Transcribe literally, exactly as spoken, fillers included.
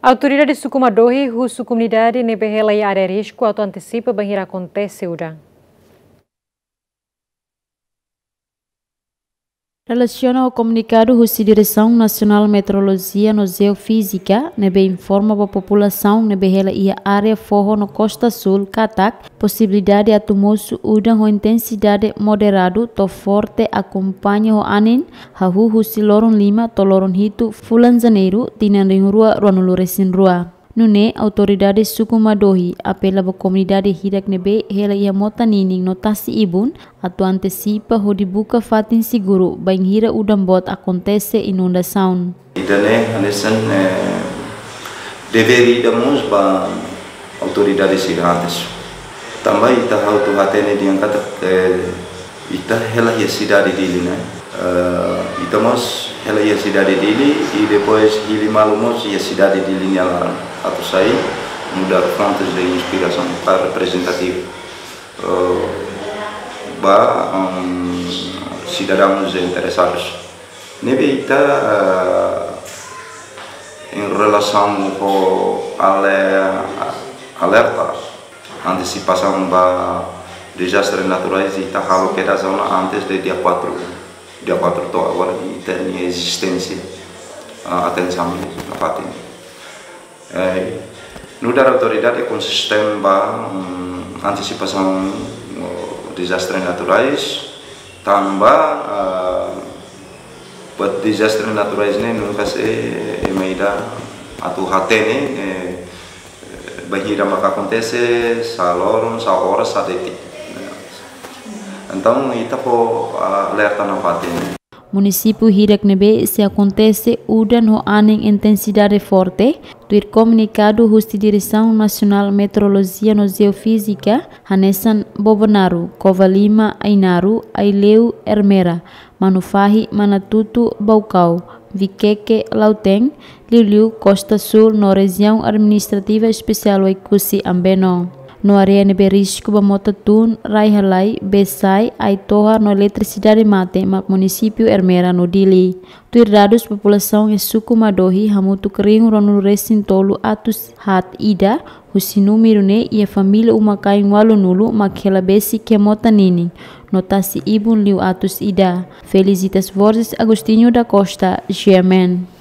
Autoridade suku Madohi husu komunidade ne'ebé hela iha área risku atu antesipa bainhira akontese udan. Relasiona ho komunikadu husi Diresaun Nasionál Meteorolojia no Jeofízika, ne'ebé informa ba populasaun ne'ebé hela iha área foho no kosta súl katak posibilidade atu mosu udan ho intensidade moderadu to'o forte akompaña ho anin hahú husi loron lima to'o loron hitu fulan Janeiru tinan rihun rua ruanulu resin rua. Nune'e autoridade suku Madohi apela ba komunidade hirak ne'ebé hela iha mota ninin no tasi-ibun atu antesipa hodi buka fatin seguru bainhira udan boot akontese inundasaun. Ida-ne'e hanesan, eh, devér ida mós ba autoridade sira antes. Tanba ita halo atu hatene dehan katak, eh, ita hela iha sidade Dili ne'e. Eh, ita mós hela iha sidade Dili, i depois hili malu mós iha sidade Dili nia laran. Atu sai nu'udar fontes de inspirasaun para reprezentativu, eh, ba, em, sidadaun interesadus. Ne'ebé ita, eh, em relasaun ho ale-, alerta, antesipasaun ba dezastre naturais, ita halo kedas ona antes de dia quatro. Dia quatro to'o agora ita-nia ezisténsia, ah, atensaun nafatin. Eh, nu'udar autoridade konsistente ba, mm, antesipasaun, oh, dezastre naturais, tanba, ah, buat dezastre naturais ne'e nunka sei ema ida atu hatene, eh, bainhira maka akontese, sá loron, sá oras, sá detik. Entaun, ita fó alerta nafatin. Munisípiu hirak ne'ebé sei akontese udan ho anin intensidade forte, tuir komunikadu husi Diresaun Nasionál Meteorolojia no Jeofízika, hanesan Bobonaro, Covalima, Ainaro, Aileu, Ermera, Manufahi, Manatuto, Baucau, Viqueque, Lautém, liuliu Kosta Súl no Rejiaun Administrativa Espesiál Oekusi Ambeno. No área ne'ebé risku ba mota tun, rai halai, bee sa'e, ai-tohar no eletrisidade mate mak munisípiu Ermera no Dili. Tuir dadus populasaun iha suku Madohi hamutuk rihun ruanulu resin tolu atus haat ida, husi númeru ne'e iha família uma-kain ualunulu mak hela besik iha mota ninin, no tasi-ibun liu atus ida. Felicitas Borges, Agostinho da Costa, G M N.